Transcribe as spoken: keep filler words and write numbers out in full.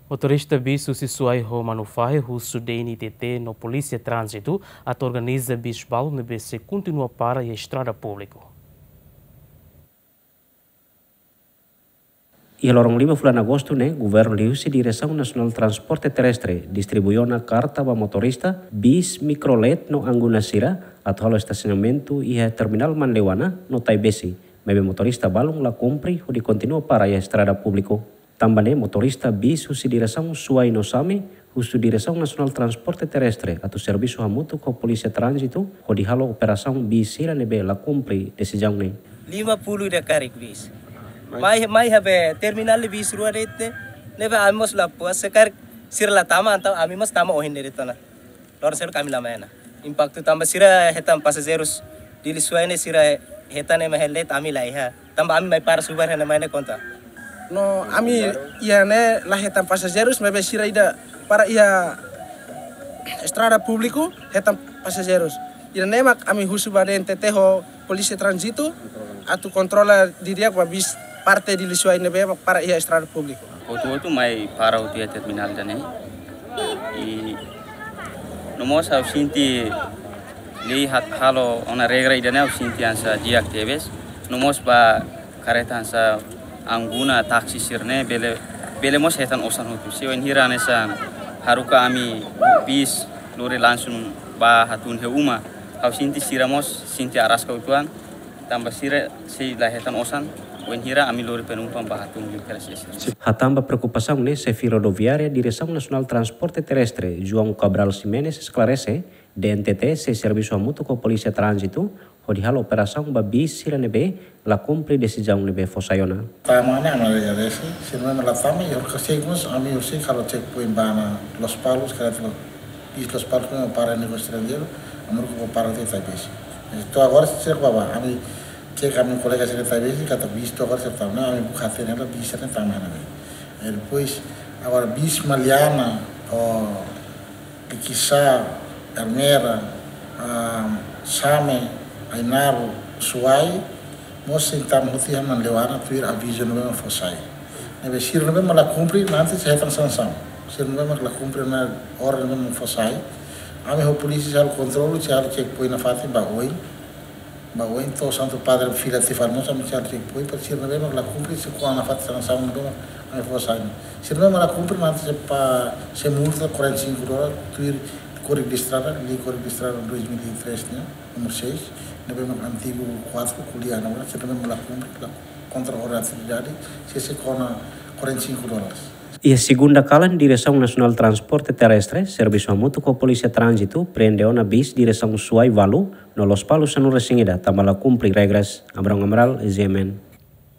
Motorista bis husi Suai ho Manufahi husu D N T T no Polísia Tránzitu atu organiza bis balu ne'ebé sei kontinua para iha estrada públiku. Iha loron lima fulan Agostu ne'e, Governu liuhusi Diresaun Nasionál Transporte Terrestre distribui ona karta ba motorista bis Mikrolet no Angguna sira atu halo estasionamentu iha terminál Manleuana no Taibesi, maibé motorista balun la kumpre hodi kontinua para iha estrada públiku. Tanba ne'e, motorista bis husi diresaun Suai no Same husu Diresaun Nasionál Transporte Terrestre atu servisu hamutuk ho Polísia Tránzitu hodi halo operasaun bis sira ne'ebé la kumpre desizaun ne'e. Lima puluh ida karik bis. Mai, mai iha be terminál bis rua de'it, ne'ebé ami mós la puas, se karik sira la tama, entaun ami mós tama ohin de'it ona. Loron seluk ami la mai ona. Impaktu tanba sira hetan pasajeirus Dili Suai ne'e, sira hetan ema helet, ami la iha. Tanba ami mai para subar iha ne'e, mai ne'e konta. No ami iha ne'e la hetan pasajeirus, maibé sira ida para iha estrada públiku hetan pasajeirus. Ida-ne'e mak ami husu ba D N T T ho Polísia Tránzitu atu kontrola didi'ak ba bis parte Dili Suai ne'ebé mak para iha estrada públiku. Hotu-hotu mai para hotu iha terminál ida-ne'e. I no mós ha'u sente lei hat halo ona regra ida-ne'e, ha'u sente hanesan di'ak tebes. No mós ba karreta hanesan Angguna, taksi sira-ne'e bele, bele mós hetan osan hotu. Se wainhira hanesan haruka ami bis lori langsung ba hatún iha uma, ha'u sente sira mós sente araska uitoan. Tanba sira sei la hetan osan wainhira ami lori penumpang ba hatún iha kelas S. Hatán ba preokupasaun ne'e, Xefe Rodoviária Diresaun Nasionál Transporte Terrestre, João Cabral Ximenes, esklarese D N T T sei servisu hamutuk ho Polísia Tránzitu hodi halo operasaun ba bis sira ne'ebé la kumpre desizaun ne'ebé fó sai ona. Tama ne'e ami agradese, sira ne'ebé la tama, i horka sei mós ami horisehik halo checkpoint ba iha Lospalos, karreta bis Lospalos ne'e para negósiu estranjeiru, ami rukun para iha Taibesi. To'o agora sira bá, ami cek ami kolega sira Taibesi, katak bis to'o agora sira tama, ami buka hatene bis sira tama ne'e. I depois, agora bis Maliana, o Likisá, Ermera, ah, Same, Ainaro, Suai, mós sei tama hotu iha Manleuana tuir avizu ne'ebé mak fó sai. Ne'ebé sira ne'ebé mak la kumpre, nanti sei hetan sansaun. Sira ne'ebé mak la kumpre ona orden ne'ebé mak fó sai. Ami ho polísia sei halo kontrolu, sei halo checkpoint nafatin ba oin. Ba oin to'o Santu Padre fila tiha fali mós ami sei halo checkpoint, para sira ne'ebé mak la kumpre, sei kona nafatin sansaun ne'ebé mak ami fó sai. Sira ne'ebé mak la kumpre, nanti sei pa, sei multa quarenta e cinco dólares, tuir Kódigu de Estrada, Lei Kódigu de Estrada dois mil e três ne'e, númeru seis, ne'ebé mak antigu quatro, ko'alia agora, sira ne'ebé mak la kumpre, la kontra orden atividade, sei, sei kona quarenta e cinco dólares. Iha segunda kalan, Diresaun Nasionál Transporte Terrestre servisu hamutuk ho Polísia Tránzitu prende ona bis diresaun Suai ualu no Lospalos sanulu-resin-ida tanba la kumpre regras. Abraão Amaral, G M N.